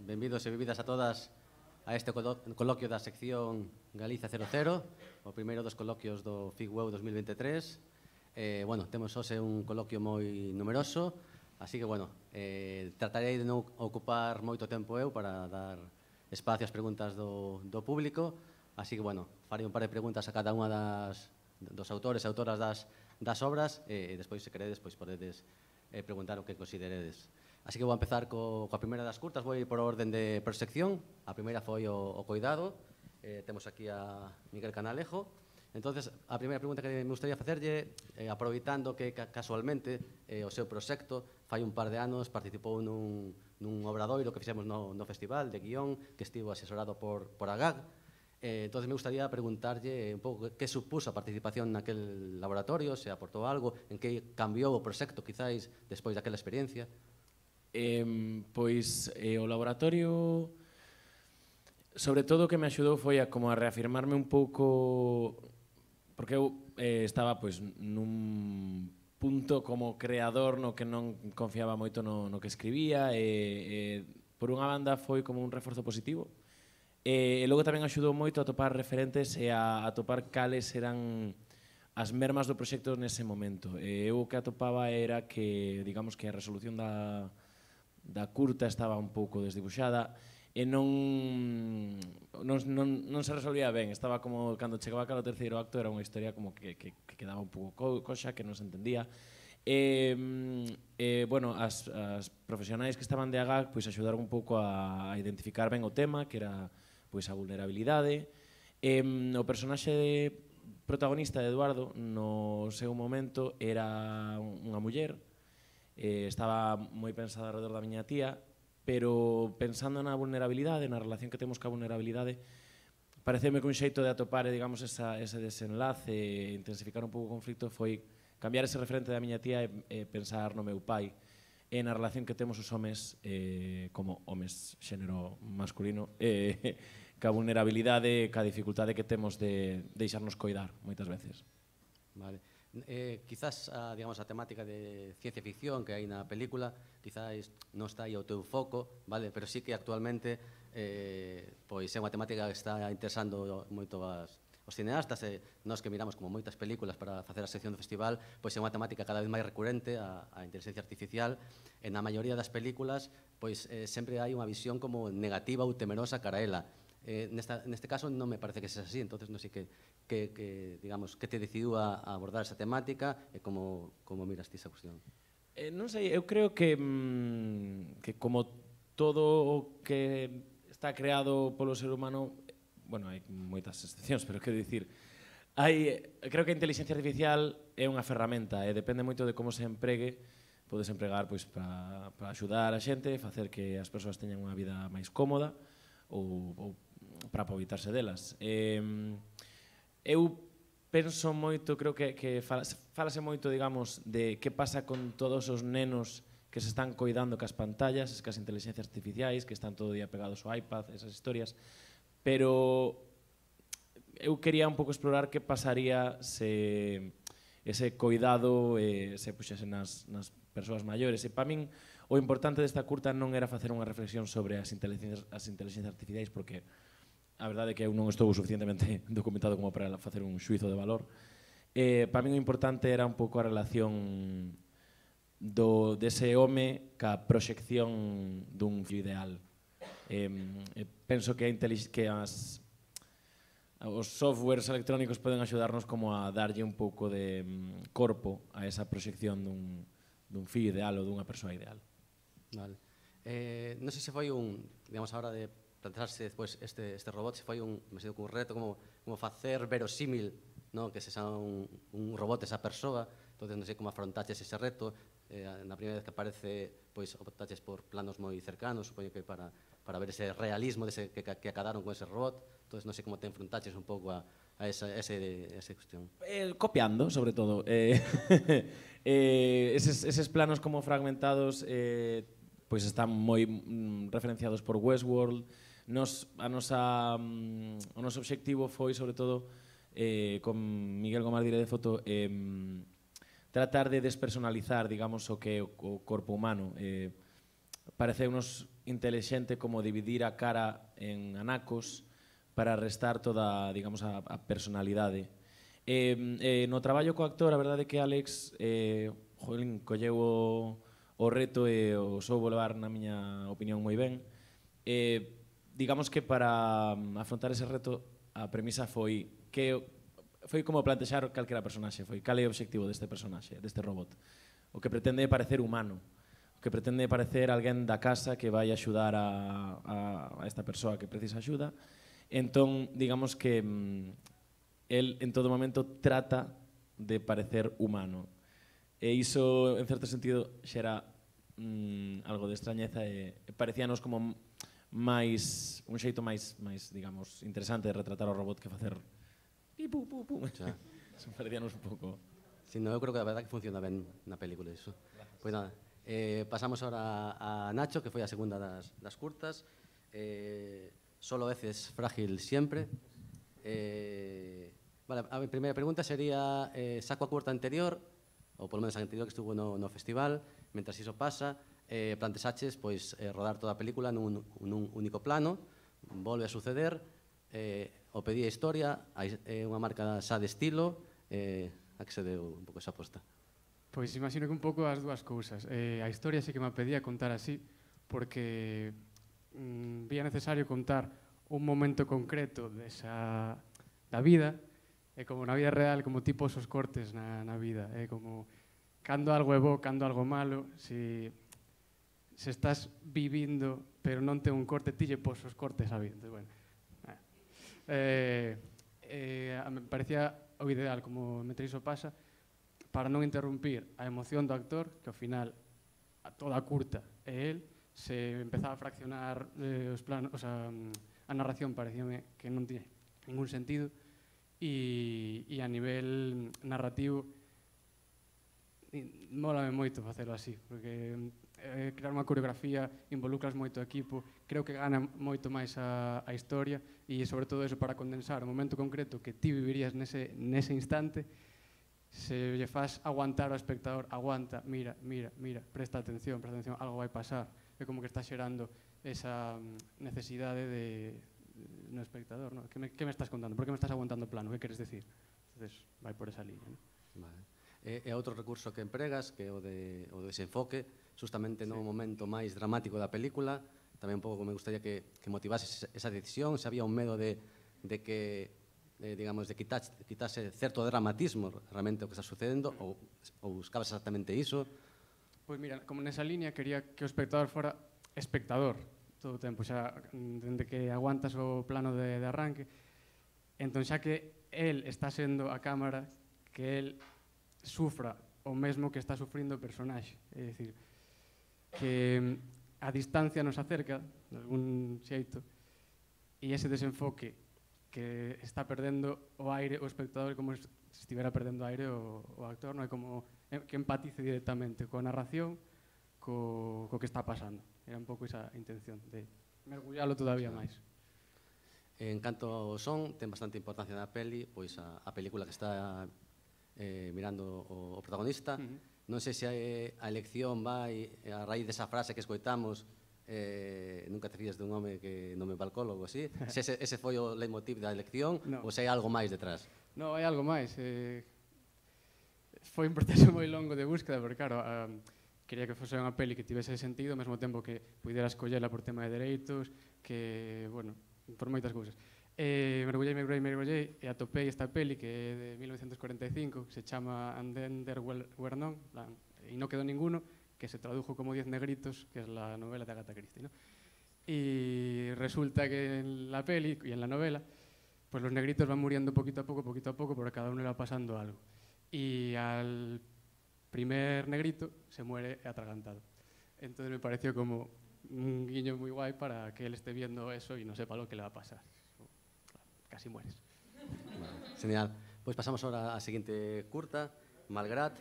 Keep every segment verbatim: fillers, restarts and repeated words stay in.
benvidos e benvidas a todas a este coloquio da sección Galicia cero cero, o primeiro dos coloquios do FIGWEU dos mil veintitrés. Eh, bueno, temos hoxe un coloquio moi numeroso, así que, bueno, eh, tratarei de non ocupar moito tempo eu para dar espacio ás preguntas do, do público, así que, bueno, farei un par de preguntas a cada unha das, dos autores e autoras das, das obras, e despois, se queredes, pois podedes eh, preguntar o que consideredes. Así que vou empezar co, coa primeira das curtas, vou ir por orden de proxección. A primeira foi o, o coidado. Eh, temos aquí a Miguel Canalejo. Entonces, a primeira pregunta que me gustaría facerlle, eh, aproveitando que casualmente eh, o seu proxecto fai un par de anos participou nun, nun obradoiro que fixemos no, no festival de guión, que estivo asesorado por, por A G A G. Eh, entonces, me gustaría preguntarlle un pouco que supuso a participación naquel laboratorio, se aportou algo, en que cambiou o proxecto, quizáis, despois daquela experiencia. Eh, pois eh, o laboratorio, sobre todo o que me axudou foi a como a reafirmarme un pouco, porque eu eh, estaba pois nun punto como creador no que non confiaba moito no, no que escribía, e, e por unha banda foi como un reforzo positivo, e, e logo tamén axudou moito a topar referentes e a, a topar cales eran as mermas do proxecto nese momento. E eu o que atopaba era que, digamos que a resolución da da curta estaba un pouco desdibuxada e non, non, non, non se resolvía ben. Estaba como, cando chegaba cara ao terceiro acto, era unha historia como que, que, que quedaba un pouco coxa, que non se entendía. E, e bueno, as, as profesionais que estaban de A G A G pois axudaron un pouco a, a identificar ben o tema, que era pois a vulnerabilidade. E, o personaxe protagonista de Eduardo, no seu momento, era unha muller. Eh, estaba moi pensada alrededor da miña tía, pero pensando na vulnerabilidade, na relación que temos ca vulnerabilidade, pareceme que un xeito de atopar, digamos, esa, ese desenlace e intensificar un pouco o conflito foi cambiar ese referente da miña tía e, e pensar no meu pai e na relación que temos os homes eh, como homes xénero masculino eh, ca vulnerabilidade, ca dificultade que temos de deixarnos coidar moitas veces. Vale. Eh, quizás a, digamos, a temática de ciencia ficción que hai na película quizás non está aí ao teu foco, vale? Pero sí que actualmente eh, pois é unha temática que está interesando moito as, os cineastas, e nós que miramos como moitas películas para facer a sección do festival, pois é unha temática cada vez máis recurrente, a, a inteligencia artificial, e na maioría das películas pois eh, sempre hai unha visión como negativa ou temerosa cara a ela. Eh, nesta, neste caso non me parece que sexa así, entonces non sei que, que, que, digamos, que te decidiu a, a abordar esa temática e como, como miras ti esa cuestión. Eh, non sei, eu creo que, mmm, que como todo o que está creado polo ser humano, bueno, hai moitas excepcións, pero quero dicir, hai, creo que a inteligencia artificial é unha ferramenta e depende moito de como se empregue. Podes empregar pois, para, para axudar a xente, facer que as persoas teñan unha vida máis cómoda, ou, ou para aproveitarse delas. Eh, eu penso moito, creo que, que falase moito, digamos, de que pasa con todos os nenos que se están coidando cas pantallas, cas inteligencias artificiais, que están todo o día pegados ao iPad, esas historias, pero eu quería un pouco explorar que pasaría se ese coidado eh, se puxese nas, nas persoas maiores. E para min, o importante desta curta non era facer unha reflexión sobre as inteligencias, as inteligencias artificiais, porque a verdade é que eu non estou suficientemente documentado como para facer un xuizo de valor. Eh, para min o importante era un pouco a relación do, dese home ca proxección dun fillo ideal. Eh, penso que, a que as, os softwares electrónicos poden axudarnos como a darlle un pouco de um, corpo a esa proxección dun, dun fillo ideal ou dunha persoa ideal. Vale. Eh, non sei se foi un, digamos, a hora de plantearse despois este, este robot, se foi un, me sei, un reto como, como facer verosímil, no? Que se xa un, un robot esa persoa, entonces non sei como afrontaches ese reto, eh, na primeira vez que aparece, pois optaches por planos moi cercanos, supoño que para, para ver ese realismo dese, que, que acadaron con ese robot, entonces non sei como te enfrontaches un pouco a, a esa, ese, esa cuestión. Eh, copiando, sobre todo. Eh, eh, eses, eses planos como fragmentados eh, pois están moi mm, referenciados por Westworld. Nos, a nosa, mm, o noso obxectivo foi, sobre todo, eh, con Miguel Gomar Dire de Foto, eh, tratar de despersonalizar, digamos, o que é o corpo humano. Eh, pareceunos intelixente como dividir a cara en anacos para restar toda, digamos, a, a personalidade. Eh, eh, no traballo co actor, a verdade é que Alex eh, jolín, colleu o, o reto e o soubo levar, na miña opinión, moi ben. Eh, digamos que para afrontar ese reto a premisa foi que foi como plantexar calquera personaxe, foi cal é o obxectivo deste personaxe, deste robot. O que pretende é parecer humano, o que pretende é parecer alguén da casa que vai axudar a, a, a esta persoa que precisa axuda. Entón, digamos que mm, el en todo momento trata de parecer humano. E iso, en certo sentido, xera mm, algo de extrañeza e, e parecíanos como máis un xeito máis, máis, digamos, interesante de retratar o robot que facer pi, pu, pu, pu. Xa. Parecíanos un pouco... Si, no, eu creo que a verdade que funciona ben na película iso. Pois nada, eh, pasamos ahora a Nacho, que foi a segunda das, das curtas. Eh, Solo veces frágil siempre. Eh, vale, a primeira pregunta sería, eh, saco a curta anterior, ou polo menos a anterior que estuvo no, no festival, mentras iso pasa, eh, plantesaches pois, eh, rodar toda a película nun, nun único plano, volve a suceder, eh, o pedía historia, é eh, unha marca xa de estilo, eh, a que se deu un pouco esa aposta? Pois imagino que un pouco as dúas cousas. Eh, a historia sí que me pedía contar así, porque mm, vía necesario contar un momento concreto desa, da vida, e como na vida real, como tipo esos cortes na, na vida, é como cando algo é bo, cando algo malo, se, se estás vivindo, pero non ten un corte, ti lle pos os cortes a vida. Entonces, bueno, eh, eh, me parecía o ideal, como mentre iso pasa, para non interrumpir a emoción do actor, que ao final a toda a curta é el, se empezaba a fraccionar eh, os planos, o sea, a narración parecíame que non tiña ningún sentido e, e a nivel narrativo mólame moito facelo así, porque eh, crear unha coreografía involucras moito o equipo, creo que gana moito máis a, a historia e sobre todo eso para condensar o momento concreto que ti vivirías nese, nese instante. Se lle faz aguantar ao espectador, aguanta, mira, mira, mira, presta atención, presta atención, algo vai pasar. É como que está xerando esa necesidade de, de, no espectador, ¿no? Que me, que me estás contando? Por que me estás aguantando o plano? Que queres decir? Entonces, vai por esa liña, ¿no? Vale. E, e outro recurso que empregas, que é o de, o desenfoque, justamente no sí. momento máis dramático da película, tamén un pouco me gustaría que, que motivases esa decisión, se había un medo de, de que Eh, digamos, de quitase, quitase certo dramatismo realmente o que está sucedendo, ou, ou buscabas exactamente iso? Pois mira, como nesa línea quería que o espectador fora espectador todo o tempo, xa dende que aguantas o plano de, de arranque, entón xa que el está sendo a cámara, que el sufra o mesmo que está sufrindo o personaxe, é dicir, que a distancia nos acerca de algún xeito e ese desenfoque que está perdendo o aire o espectador como se estivera perdendo aire o, o actor, non é como que empatice directamente coa narración, co, co que está pasando. Era un pouco esa intención de mergullalo todavía máis. En canto ao son, ten bastante importancia na peli, pois a, a película que está eh, mirando o, o protagonista. Uh-huh. Non sei se a, a elección vai a raíz desa frase que escoitamos, Eh, nunca te fías dun home que non me balcólogo, así? Se ese, ese foi o leitmotiv da elección, no. Ou se hai algo máis detrás? Non, hai algo máis. Eh, foi un proceso moi longo de búsqueda, porque, claro, um, quería que fose unha peli que tivese sentido, ao mesmo tempo que pudera escollela por tema de dereitos, que, bueno, por moitas cousas. Eh, mergullei, mergullei, mergullei, e atopei esta peli que é de mil novecientos cuarenta e cinco, que se chama And Then There Were None, e non quedou ninguno, que se tradujo como Diez negritos, que es la novela de Agatha Christie, ¿no? Y resulta que en la peli y en la novela, pues los negritos van muriendo poquito a poco, poquito a poco, porque a cada uno le va pasando algo. Y al primer negrito se muere atragantado. Entonces me pareció como un guiño muy guay para que él esté viendo eso y no sepa lo que le va a pasar. Casi mueres. Bueno, genial. Pues pasamos ahora a seguinte curta, Malgrat,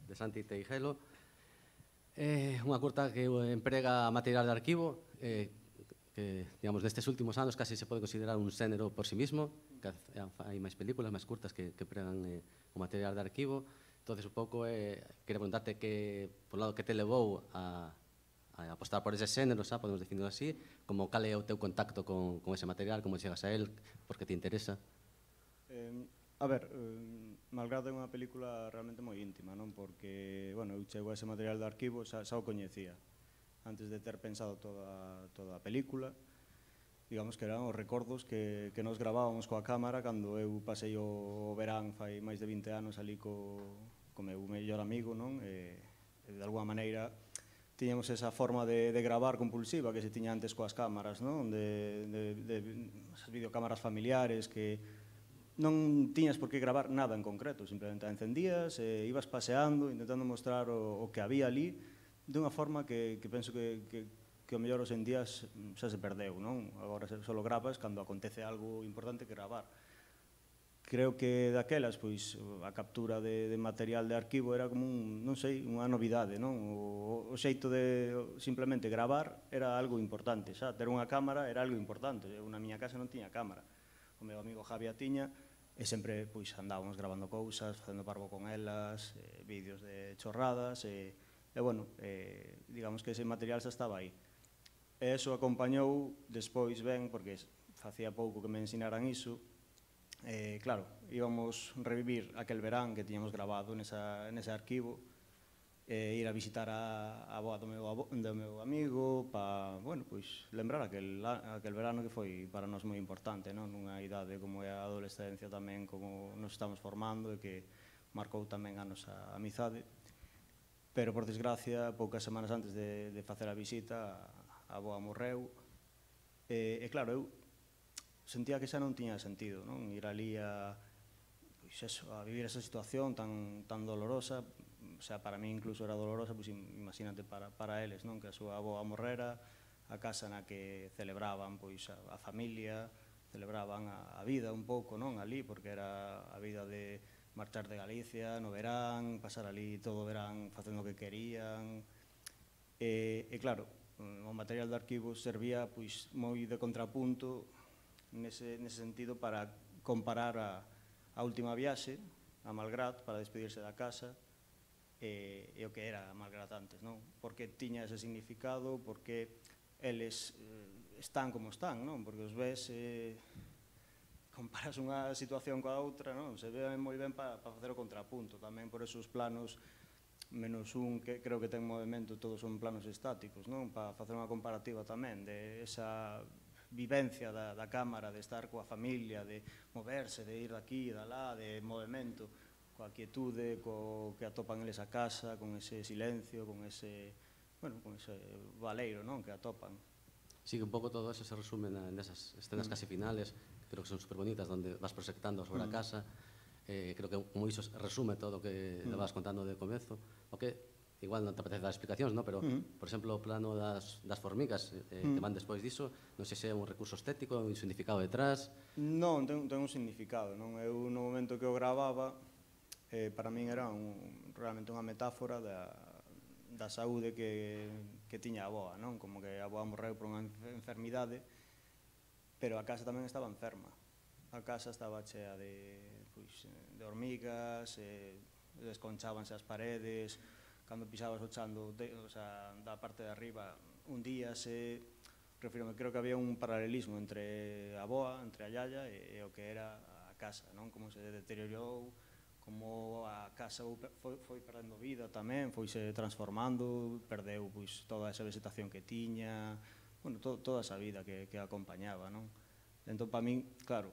de Santi Teijelo. É eh, unha curta que emprega material de arquivo, eh, que, digamos, destes últimos anos casi se pode considerar un xénero por sí mismo, que hai máis películas, máis curtas que, que empregan eh, o material de arquivo. Entonces, un pouco, eh, quero preguntarte que, por lado, que te levou a, a a apostar por ese xénero, xa, podemos definirlo así, como cal é o teu contacto con, con ese material, como chegas a él, porque te interesa? Eh, a ver, eh, Malgrado é unha película realmente moi íntima, non? Porque, bueno, eu chego a ese material do arquivo, xa, xa o coñecía, antes de ter pensado toda, toda a película. Digamos que eran os recordos que, que nos gravábamos coa cámara cando eu pasei o verán fai máis de vinte anos ali co, co meu mellor amigo, non? E, e de alguma maneira tiñamos esa forma de, de gravar compulsiva que se tiña antes coas cámaras, non? De, de, de esas videocámaras familiares que non tiñas por que gravar nada en concreto, simplemente a encendías e ibas paseando, intentando mostrar o, o que había ali dunha forma que, que penso que, que, que o mellor os en días xa se perdeu, non? Agora só grabas cando acontece algo importante que gravar. Creo que daquelas, pois, a captura de, de material de arquivo era como un, non sei, unha novidade, non? O, o xeito de simplemente gravar era algo importante, xa, ter unha cámara era algo importante. Eu na miña casa non tiña cámara. O meu amigo Javi a tiña, e sempre, pois, andábamos gravando cousas, facendo parvo con elas, eh, vídeos de chorradas, e, e bueno, eh, digamos que ese material xa estaba aí. E eso acompañou despois ben, porque facía pouco que me ensinaran iso. Eh, claro, íbamos revivir aquel verán que tiñamos grabado nesa, nese arquivo, e ir a visitar a, a boa do meu, do meu amigo, para, bueno, pois, lembrar aquel, aquel verano que foi para nós moi importante, non? Nunha idade como é a adolescencia tamén, como nos estamos formando, e que marcou tamén a nosa amizade. Pero, por desgracia, poucas semanas antes de, de facer a visita, a boa morreu, e, e claro, eu sentía que xa non tiña sentido, non? Ir ali a, pois eso, a vivir esa situación tan, tan dolorosa, o sea, para mí incluso era dolorosa, pois imagínate para, para eles, non? Que a súa avoa morrera, a casa na que celebraban pois a, a familia, celebraban a, a vida un pouco, non? Ali, porque era a vida de marchar de Galicia no verán, pasar ali todo o verán facendo o que querían, e, e claro, o material de arquivo servía pois moi de contrapunto nese, nese sentido para comparar a, a última viaxe a Malgrat para despedirse da casa e, e o que era Malgrat antes, non? Porque tiña ese significado, porque eles eh, están como están, non? Porque os ves, eh, comparas unha situación coa outra, non? Se ve moi ben para pa facer o contrapunto, tamén por esos planos menos un que creo que ten movimento, todos son planos estáticos, non? Para facer unha comparativa tamén de esa vivencia da, da cámara, de estar coa familia, de moverse, de ir daqui e dalá, de movimento, coa quietude, co que atopan eles a casa, con ese silencio, con ese, bueno, con ese valeiro, non? Que atopan. Sí, que un pouco todo eso se resume nesas escenas mm. casi finales, que creo que son superbonitas, donde vas proxectando sobre mm. a casa. Eh, creo que como iso resume todo o que mm. vas contando de comezo. O que igual non te apetece dar explicacións, no? Pero, mm. por exemplo, o plano das, das formigas eh, mm. que van despois diso, non sei se é un recurso estético, un significado detrás. Non, ten, ten un significado, non? Eu no momento que o gravaba, eh, para min era un, realmente unha metáfora da, da saúde que, que tiña a avoa, non? Como que a avoa morreu por unha enfermidade, pero a casa tamén estaba enferma. A casa estaba chea de, pois, de hormigas, eh, desconchábanse as paredes, cando pisabas o chan do, de, o sea, da parte de arriba, un día se, refírome, creo que había un paralelismo entre a boa, entre a yaya e, e o que era a casa, non? Como se deteriorou, como a casa foi, foi perdendo vida tamén, foise transformando, perdeu pois, toda esa vegetación que tiña, bueno, to, toda esa vida que, que acompañaba, non? Entón, para min, claro,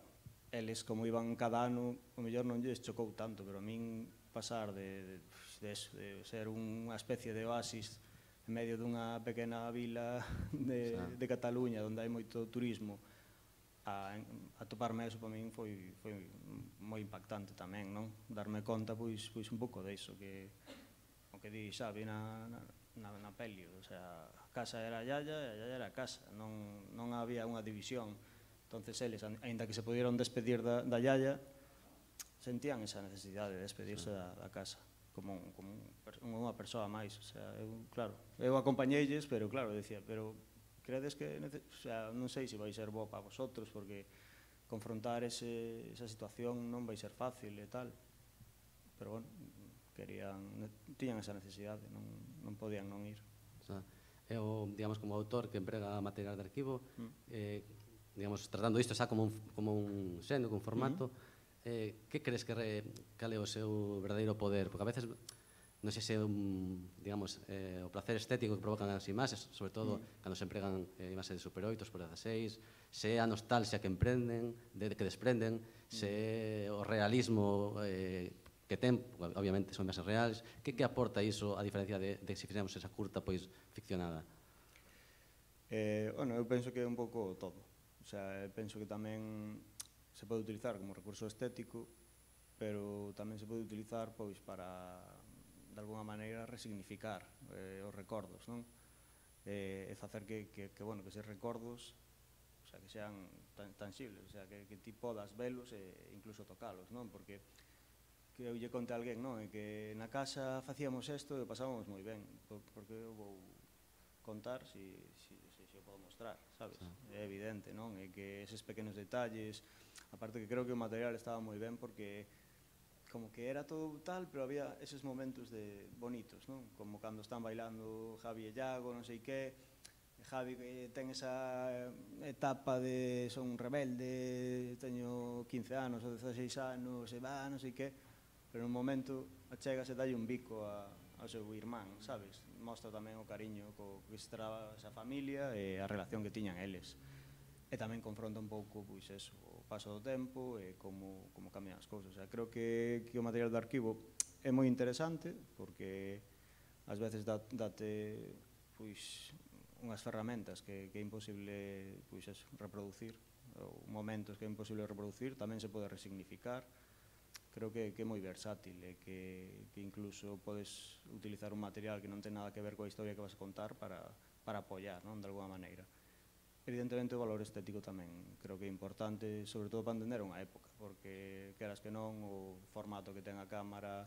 eles como iban cada ano, o mellor non lles chocou tanto, pero a min pasar de, de, de, de ser unha especie de oasis en medio dunha pequena vila de, de Cataluña onde hai moito turismo a, a toparme eso para min foi, foi moi impactante tamén, non? Darme conta pois, pois un pouco diso que o que di Xavi na, na, na, na peli, o sea, a casa era a yaya e a yaya era a casa, non, non había unha división. Entonces eles, aínda que se pudieron despedir da, da yaya, sentían esa necesidade de despedirse da, da casa como, un, como un, unha persoa máis, o sea, eu, claro, eu acompañeilles, pero claro, decía, pero credes que, o sea, non sei se vai ser bo para vosotros, porque confrontar ese, esa situación non vai ser fácil e tal, pero bueno, querían, tiñan esa necesidade, non, non podían non ir. O sea, é o, digamos, como autor que emprega material de arquivo, Mm. eh, digamos, tratando isto xa como un, como un xénero, como un formato, eh, que crees que re, cal é o seu verdadeiro poder? Porque a veces non sei se un, digamos, eh, o placer estético que provocan as imaxes, sobre todo mm. cando se empregan eh, imaxes de Super oito, Super dezasseis, se é a nostalgia que emprenden, de, que desprenden, mm. se é o realismo eh, que ten, obviamente son imaxes reales, que, que aporta iso a diferencia de, de se fixemos esa curta pois ficcionada? Eh, bueno, eu penso que é un pouco todo. O sea, penso que tamén se pode utilizar como recurso estético, pero tamén se pode utilizar pois para de alguna maneira resignificar eh, os recordos, non? Eh, e facer que, que, que, bueno, que eses recordos, o sea, que sean tan, tangibles, o sea, que, que ti podas velos e incluso tocalos, non? Porque que eu lle conte a alguén, non? E que na casa facíamos isto e pasábamos moi ben, porque eu vou contar si, si, si, si o podo mostrar, sabes? Ah. É evidente, non? E que eses pequenos detalles, aparte que creo que o material estaba moi ben porque como que era todo tal, pero había eses momentos de bonitos, non? Como cando están bailando Javi e Iago, non sei que, Javi que ten esa etapa de son un rebelde, teño quince anos ou dezaseis anos, e va, non sei que, pero nun momento achegase dalle un bico a, ao seu irmán, sabes? Mostra tamén o cariño co que estraba esa familia e a relación que tiñan eles. E tamén confronta un pouco, pois, eso, o paso do tempo e como, como cambian as cousas. O sea, creo que, que o material de arquivo é moi interesante porque ás veces dá, date pois, unhas ferramentas que, que é imposible pois, eso, reproducir, ou momentos que é imposible reproducir, tamén se pode resignificar. Creo que, que é moi versátil e que, que incluso podes utilizar un material que non ten nada que ver coa historia que vas a contar para, para apoiar, non, de alguna maneira. Evidentemente o valor estético tamén creo que é importante, sobre todo para entender unha época, porque queras que non, o formato que ten a cámara,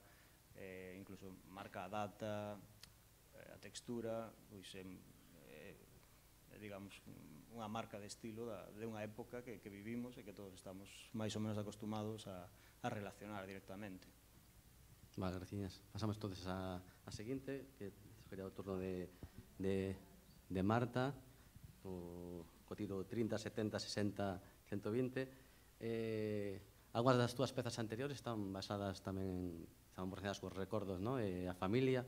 eh, incluso marca a data, eh, a textura, pois é, eh, digamos, unha marca de estilo da, de unha época que, que vivimos e que todos estamos máis ou menos acostumados a, a relacionar directamente. Vale, gracias. Pasamos entonces a, a seguinte, que sería o turno de, de, de Marta, o, co tiro trinta, setenta, sesenta, ciento vinte. Eh, algunhas das túas pezas anteriores están basadas tamén, están relacionadas cos recordos, no? E a familia,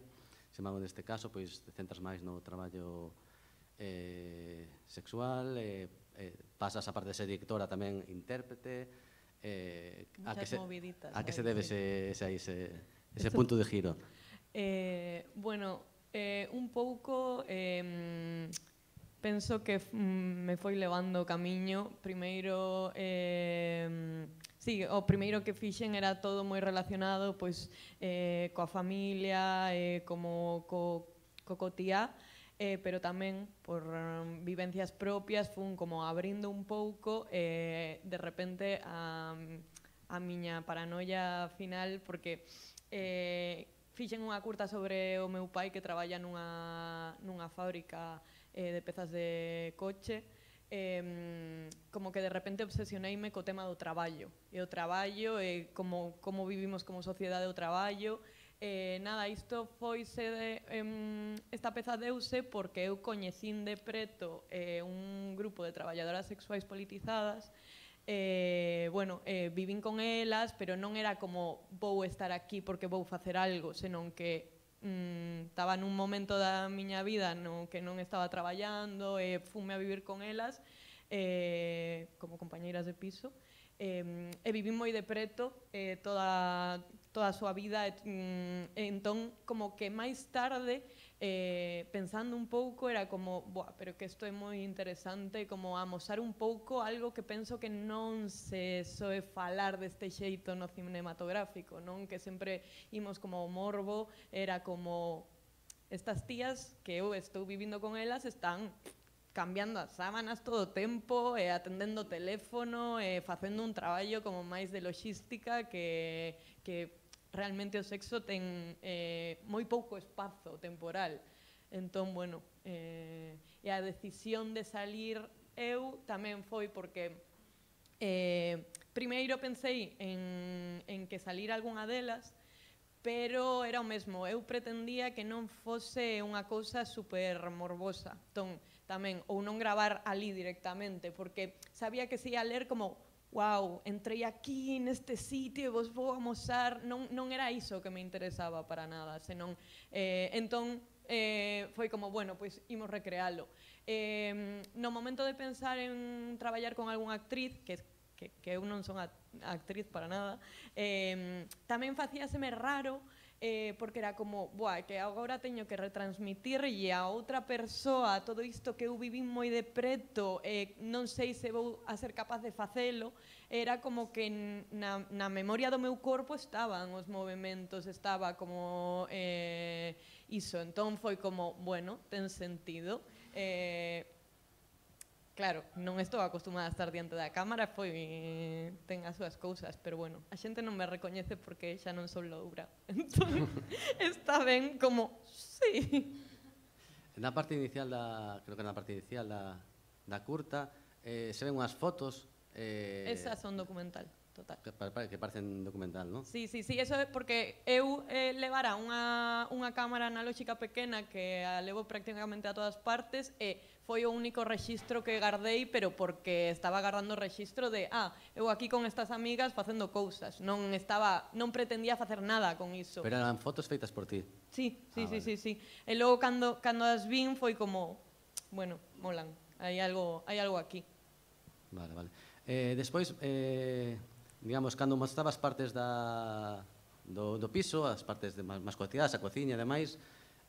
se mago neste caso, pois te centras máis no traballo eh, sexual, eh, eh, pasas a parte de ser directora tamén intérprete, eh, a que se, a que se debe ese, ese, ese, ese punto de giro? Eh, bueno, eh, un pouco... Eh, penso que mm, me foi levando o camiño. Primeiro, eh, sí, o primeiro que fixen era todo moi relacionado pois, eh, coa familia, eh, como co, co cotía, eh, pero tamén por um, vivencias propias fun como abrindo un pouco eh, de repente a, a miña paranoia final, porque eh, fixen unha curta sobre o meu pai que traballa nunha, nunha fábrica eh, de pezas de coche, eh, como que de repente obsesioneime co tema do traballo, e o traballo, e como, como vivimos como sociedade o traballo. Eh, nada, isto foise de, eh, esta peza deuse porque eu coñecín de preto eh, un grupo de traballadoras sexuais politizadas. Eh, bueno, eh, vivín con elas, pero non era como vou estar aquí porque vou facer algo, senón que mm, estaba nun momento da miña vida no que non estaba traballando, e eh, fume a vivir con elas eh, como compañeiras de piso, eh, e vivín moi de preto eh, toda, toda a súa vida, e, mm, e entón como que máis tarde eh, pensando un pouco era como, boa, pero que isto é moi interesante, como amosar un pouco algo que penso que non se soe falar deste xeito no cinematográfico, non? Que sempre imos como o morbo, era como estas tías que eu estou vivindo con elas están cambiando as sábanas todo o tempo, e atendendo o teléfono, e facendo un traballo como máis de logística que, que realmente o sexo ten eh, moi pouco espazo temporal. Entón, bueno, eh, e a decisión de salir eu tamén foi porque eh, primeiro pensei en, en que salir algunha delas, pero era o mesmo, eu pretendía que non fose unha cousa super morbosa. Entón, tamén, ou non gravar ali directamente, porque sabía que se ia ler como wow, entrei aquí neste sitio e vos vou amosar, non, non era iso que me interesaba para nada, senón, eh, entón, eh, foi como, bueno, pois imos recrealo. Eh, no momento de pensar en traballar con algunha actriz, que que, que eu non son a, a actriz para nada, eh, tamén facíaseme raro, eh, porque era como, buah, que agora teño que retransmitirlle a outra persoa todo isto que eu vivín moi de preto, eh, non sei se vou a ser capaz de facelo, era como que na, na memoria do meu corpo estaban os movimentos, estaba como eh, iso, entón foi como, bueno, ten sentido, eh, claro, non estou acostumada a estar diante da cámara, foi ten as súas cousas, pero bueno, a xente non me recoñece porque xa non son loura. Entón, está ben como, sí. Na parte inicial da, creo que na parte inicial da, da curta, eh, se ven unhas fotos eh, Esas son documental, total. que, que parecen documental, non? Sí, sí, sí, eso é porque eu eh, levara unha, unha cámara analóxica pequena que a levo prácticamente a todas partes e foi o único rexistro que guardei, pero porque estaba guardando o rexistro de, ah, eu aquí con estas amigas facendo cousas, non estaba, non pretendía facer nada con iso. Pero eran fotos feitas por ti. Sí, sí, Ah, sí, vale. sí, sí. E logo cando cando as vin foi como, bueno, molan. Hai algo, hai algo aquí. Vale, vale. Eh, despois, eh, digamos, cando mostrabas partes da, do, do piso, as partes de, máis, máis cotidianas, a cociña e demais,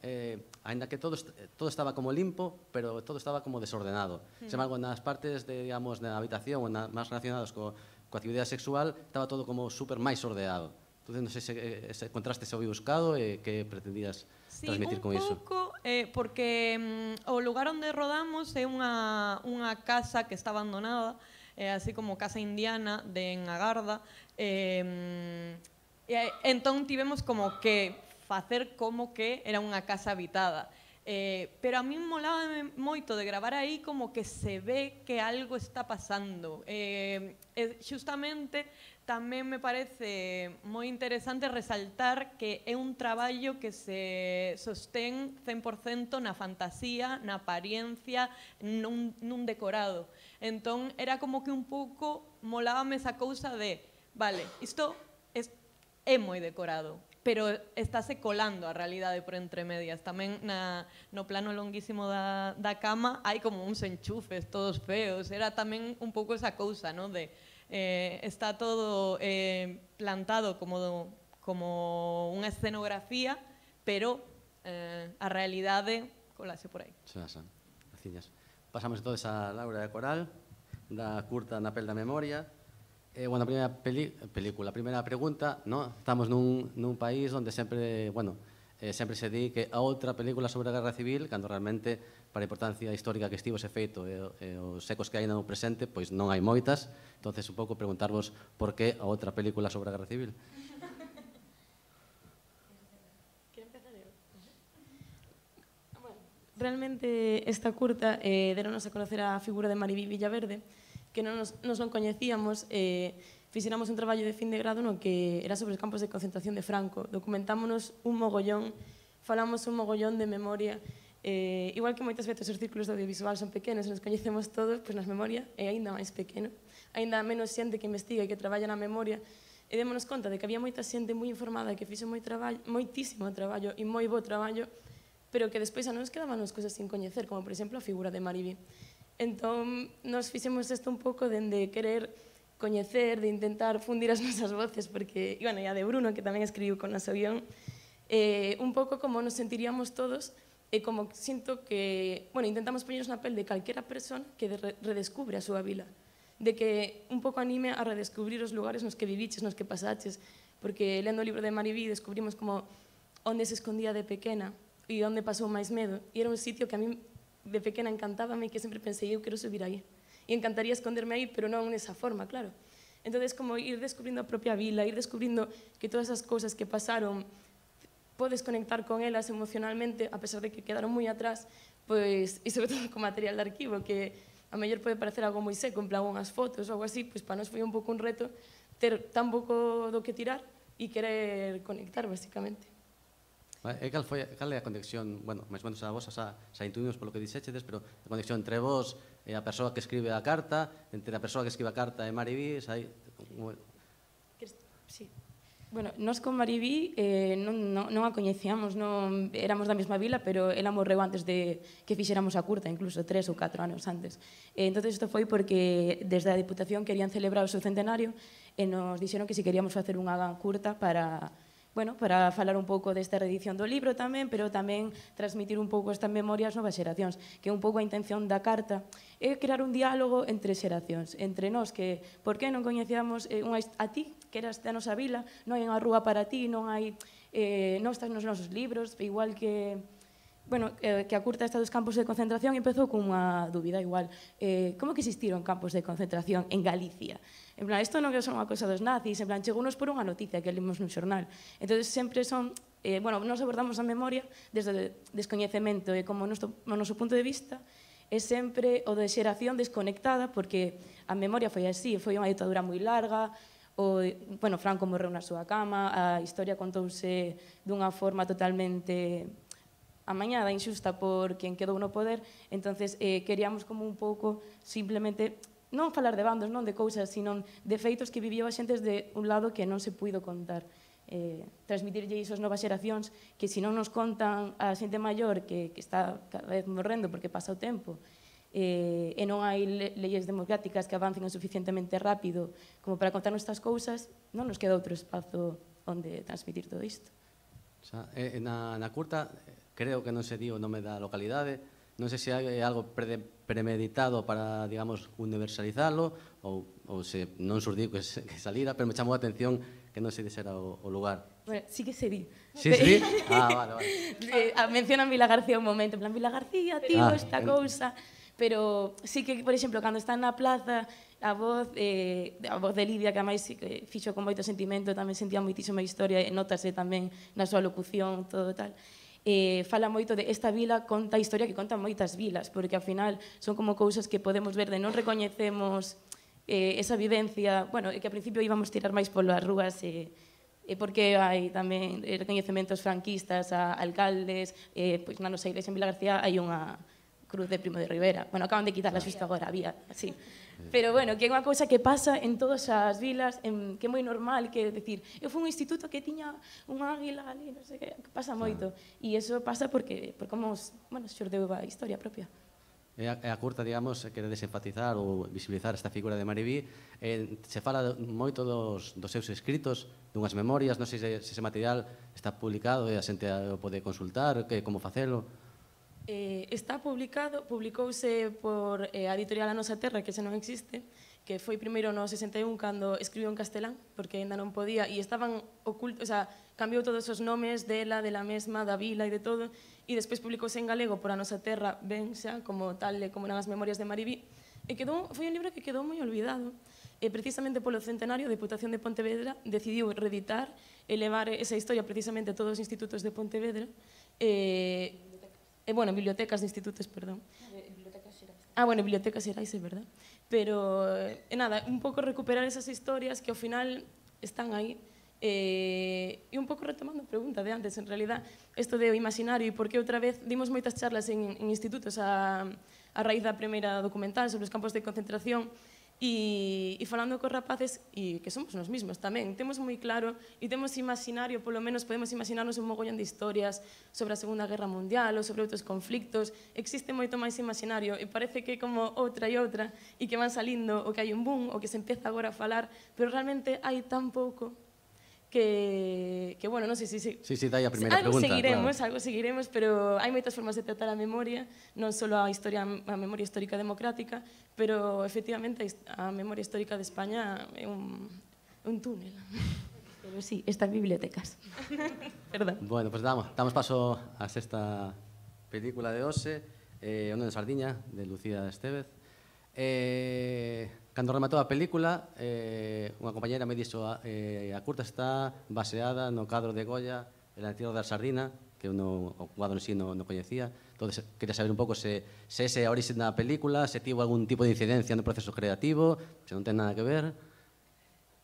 eh, ainda que todo, est todo estaba como limpo, pero todo estaba como desordenado. Mm. Sen embargo, nas partes, de, digamos, na habitación ou na, máis relacionadas co, coa actividade sexual, estaba todo como super máis ordenado. Entón, non sei se ese contraste se foi buscado e que pretendías Sí, transmitir con iso. un pouco, eh, porque mm, o lugar onde rodamos é unha, unha casa que está abandonada, eh, así como casa indiana de en Agarda, eh, e entón tivemos como que facer como que era unha casa habitada. Eh, pero a mí molaba moito de gravar aí como que se ve que algo está pasando. Eh, eh, xustamente tamén me parece moi interesante resaltar que é un traballo que se sostén cen por cento na fantasía, na apariencia, nun, nun decorado. Entón era como que un pouco molábame esa cousa de, vale, isto é, é moi decorado, pero estáse colando a realidade por entre medias. Tamén na, no plano longuísimo da, da cama hai como uns enchufes todos feos. Era tamén un pouco esa cousa, ¿no? De eh, está todo eh, plantado como, como unha escenografía, pero eh, a realidade colase por aí. Xa, xa, graciñas. Pasamos entonces a Laura de Coral, da curta Na pel da memoria. Eh, bueno, a primeira peli película, a primeira pregunta, ¿no? Estamos nun, nun país onde sempre, bueno, eh, sempre se di que a outra película sobre a Guerra Civil, cando realmente, para a importancia histórica que estivo ese feito e, e os ecos que hai no presente, pois non hai moitas. Entonces, un pouco preguntarvos por que a outra película sobre a Guerra Civil. Realmente esta curta eh, deronos a conocer a figura de Maribí Villaverde, que non nos, nos non coñecíamos, eh, fixéramos un traballo de fin de grado no que era sobre os campos de concentración de Franco. Documentámonos un mogollón, falamos un mogollón de memoria, eh, igual que moitas veces os círculos de audiovisual son pequenos, nos coñecemos todos, pois nas memoria é aínda máis pequeno, aínda menos xente que investiga e que traballa na memoria, e démonos conta de que había moita xente moi informada que fixo moi traballo, moitísimo traballo e moi bo traballo, pero que despois a nos quedaban as cousas sin coñecer, como por exemplo a figura de Maribí. Entón, nos fixemos isto un pouco dende querer coñecer, de intentar fundir as nosas voces, porque, e, bueno, e a de Bruno, que tamén escribiu con noso guión, eh, un pouco como nos sentiríamos todos, e como sinto que, bueno, intentamos poñernos na pel de calquera persona que de re redescubre a súa vila, de que un pouco anime a redescubrir os lugares nos que viviches, nos que pasaches, porque lendo o libro de Maribí descubrimos como onde se escondía de pequena e onde pasou máis medo, e era un sitio que a mí de pequena encantábame e que sempre pensei, eu quero subir aí. E encantaría esconderme aí, pero non nesa forma, claro. Entón, como ir descubrindo a propia vila, ir descubrindo que todas as cousas que pasaron podes conectar con elas emocionalmente, a pesar de que quedaron moi atrás, pois, e sobre todo con material de arquivo, que a mellor pode parecer algo moi seco, en plan unhas fotos ou algo así, pois para nós foi un pouco un reto ter tan pouco do que tirar, e querer conectar, basicamente. E cal foi cal é a conexión, bueno, máis ou menos a vos xa, xa intuimos polo que dixéchedes, pero a conexión entre vos e a persoa que escribe a carta, entre a persoa que escribe a carta e Mariví, xa hai... Sí. Bueno, nós con Mariví eh, non, non, non a coñecíamos, non éramos da mesma vila, pero ela morreu antes de que fixéramos a curta, incluso tres ou catro anos antes. Eh, entón, isto foi porque desde a Diputación querían celebrar o seu centenario e nos dixeron que si queríamos facer unha curta para... Bueno, para falar un pouco desta reedición do libro tamén, pero tamén transmitir un pouco estas memorias novas xeracións, que un pouco a intención da carta é crear un diálogo entre xeracións, entre nós, que por que non coñecíamos eh, unha, a ti, que eras da nosa vila, non hai unha rúa para ti, non hai, eh, non estás nos nosos libros, igual que... Bueno, eh, que a curta esta dos campos de concentración empezou con unha dúbida igual. Eh, como que existiron campos de concentración en Galicia? En plan, isto non é só unha cosa dos nazis, en plan, chegounos por unha noticia que limos nun xornal. Entón, sempre son... Eh, bueno, nos abordamos a memoria desde o descoñecemento e como o noso, o noso punto de vista é sempre o de xeración desconectada, porque a memoria foi así, foi unha ditadura moi larga, o, bueno, Franco morreu na súa cama, a historia contouse dunha forma totalmente... amañada, inxusta por quen quedou no poder, entonces eh, queríamos como un pouco simplemente non falar de bandos, non de cousas, sino de feitos que viviu a xente desde un lado que non se puido contar. Eh, transmitirlle iso ás novas xeracións que se non nos contan a xente maior que, que está cada vez morrendo porque pasa o tempo eh, e non hai le leyes democráticas que avancen o suficientemente rápido como para contarnos estas cousas, non nos queda outro espazo onde transmitir todo isto. O sea, eh, na, na curta... creo que non se di o nome da localidade, non sei se hai algo pre premeditado para, digamos, universalizalo ou, ou se non surdiu que, se, que salira, pero me chamou a atención que non se dixera o, o lugar. Bueno, sí que se di. Sí, sí? Ah, vale, vale. Eh, mencionan Vila García un momento, en plan, Vila García, tío, ah, esta cousa, pero sí que, por exemplo, cando está na plaza, a voz, eh, a voz de Lidia, que a máis que fixo con moito sentimento, tamén sentía moitísima historia, e notase tamén na súa locución, todo tal. Eh, fala moito de esta vila, conta a historia que contan moitas vilas, porque ao final son como cousas que podemos ver de non recoñecemos eh, esa vivencia, bueno, que ao principio íbamos tirar máis polas rúas e, e porque hai tamén recoñecementos franquistas a alcaldes, eh, pois na nosa iglesia en Vila García hai unha cruz de Primo de Rivera, bueno, acaban de quitarla xusto agora, había, así. Pero, bueno, que é unha cousa que pasa en todas as vilas, en, que é moi normal, que, decir, eu fui un instituto que tiña unha águila ali, non sei que, que pasa moito. E iso pasa porque, por como, bueno, xordeu a historia propia. E a, e a curta, digamos, quere desenfatizar ou visibilizar esta figura de Mariví. Eh, se fala moito dos, dos seus escritos, dunhas memorias, non sei se, se ese material está publicado e a xente o pode consultar, que, como facelo. Eh, está publicado, publicouse por eh, a editorial A Nosa Terra, que xa non existe, que foi primeiro no sesenta e un cando escribiu en castelán, porque ainda non podía, e estaban ocultos, o sea, cambiou todos os nomes dela, de la mesma, da vila e de todo, e despois publicouse en galego por A Nosa Terra, ben xa, como tal, como eran as memorias de Mariví, e quedou, foi un libro que quedou moi olvidado, e precisamente polo centenario, a Diputación de Pontevedra decidiu reeditar e levar esa historia precisamente a todos os institutos de Pontevedra, e... Eh, bueno, bibliotecas de institutos, perdón. Ah, bueno, bibliotecas xerais, é verdad. Pero, eh, nada, un pouco recuperar esas historias que ao final están aí. Eh, e un pouco retomando a pregunta de antes, en realidad, isto de o imaginario e por que outra vez dimos moitas charlas en, en institutos a, a raíz da primeira documental sobre os campos de concentración. E, e falando cos rapaces, e que somos nos mismos tamén, temos moi claro e temos imaginario, polo menos podemos imaginarnos un mogollón de historias sobre a Segunda Guerra Mundial ou sobre outros conflictos, existe moito máis imaginario e parece que como outra e outra e que van salindo o que hai un boom o que se empeza agora a falar, pero realmente hai tan pouco que, que bueno, non sei se... Si, sí, sí, dai a primeira algo pregunta. Seguiremos, claro. Algo seguiremos, pero hai moitas formas de tratar a memoria, non só a historia, a memoria histórica democrática, pero efectivamente a memoria histórica de España é un, un túnel. Pero sí, está en bibliotecas. Perdón. Bueno, pues damos, damos paso a sexta película de hoxe, eh, O neno Sardiña, de Lucía Estévez. Eh, cando rematou a película, eh, unha compañera me dixo eh, a curta está baseada no cadro de Goya El entierro da sardina, que eu no, o cuadro en sí non no coñecía. Entonces, quería saber un pouco se, se ese é a orixe da película, se tivo algún tipo de incidencia no proceso creativo, se non ten nada que ver.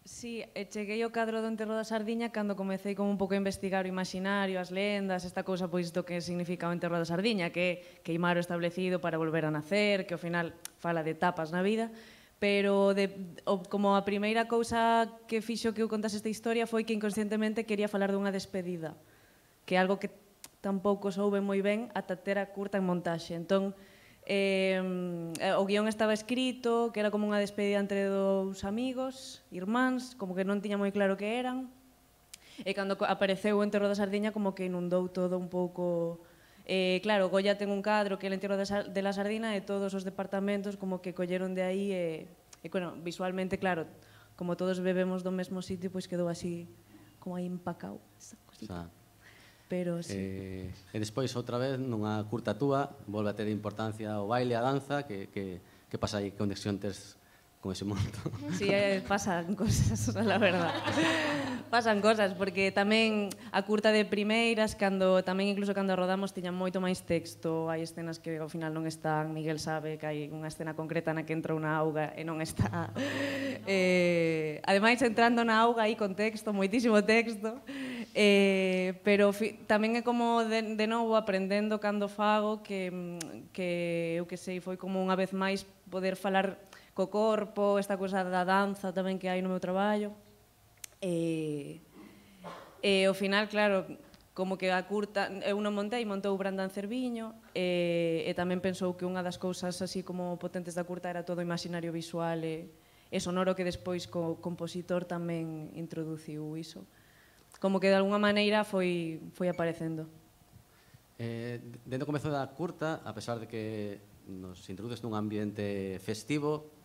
Sí, e cheguei ao cadro do enterro da sardiña cando comecei como un pouco a investigar o imaginario, as lendas, esta cousa pois do que significa o enterro da sardiña, que é queimar o establecido para volver a nacer, que ao final fala de etapas na vida, pero de, o, como a primeira cousa que fixo que eu contase esta historia foi que inconscientemente quería falar dunha despedida, que é algo que tampouco soube moi ben ata ter a curta en montaxe. Entón, Eh, o guión estaba escrito, que era como unha despedida entre dous amigos, irmáns, como que non tiña moi claro que eran, e cando apareceu o enterro da sardiña como que inundou todo un pouco. Eh, claro, Goya ten un cadro que é o enterro de la sardina e todos os departamentos como que colleron de aí e, e bueno, visualmente, claro, como todos bebemos do mesmo sitio, pois quedou así como aí empacado esa cosita. Pero sí. Eh, e despois, outra vez, nunha curta túa, volve a ter importancia o baile, a danza, que, que, que pasa aí, que conexión tes con ese mundo? Sí, eh, pasan cosas, la verdad. Pasan cosas, porque tamén a curta de primeiras, cando tamén incluso cando rodamos, tiñan moito máis texto, hai escenas que ao final non están, Miguel sabe que hai unha escena concreta na que entra unha auga e non está. Eh, ademais, entrando na auga aí con texto, moitísimo texto, eh, pero fi, tamén é como de, de novo aprendendo cando fago que, que eu que sei, foi como unha vez máis poder falar co corpo, esta cousa da danza tamén que hai no meu traballo. E, e ao final, claro, como que a curta, eu non montei, montou Brandán Cerviño, e, e tamén pensou que unha das cousas así como potentes da curta era todo o imaginario visual e, e sonoro que despois co compositor tamén introduciu iso. Como que de alguna maneira foi, foi aparecendo. Eh, dentro do comezo da curta, a pesar de que nos introduces nun ambiente festivo,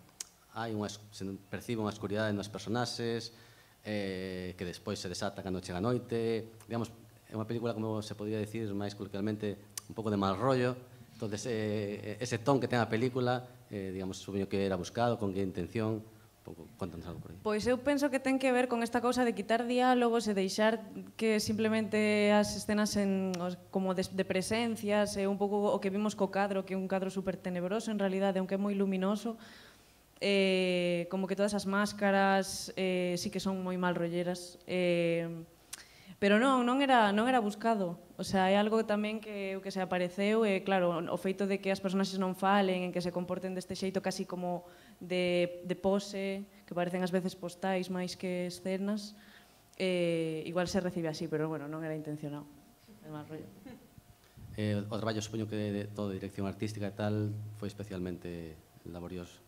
hai unha, se percibe unha escuridade nos personaxes, eh, que despois se desata cando chega a noite. Digamos, é unha película, como se podría decir máis coloquialmente, un pouco de mal rollo. Entonces, eh, ese ton que ten a película, eh, digamos, supoño que era buscado, con que intención. Pouco, contanos algo por aí. Pois eu penso que ten que ver con esta cousa de quitar diálogos e deixar que simplemente as escenas en, como de, de presencias, e un pouco o que vimos co cadro, que é un cadro super tenebroso en realidade, aunque é moi luminoso, eh, como que todas as máscaras eh, sí que son moi mal rolleras, eh, pero non, non era, non era buscado. O sea, é algo tamén que, que se apareceu, e claro, o feito de que as personaxes non falen, en que se comporten deste xeito casi como de, de pose, que parecen ás veces postais máis que escenas, eh, igual se recibe así, pero bueno, non era intencionado. É mal rollo. Eh, o traballo, supoño que de, de todo, dirección artística e tal, foi especialmente laborioso.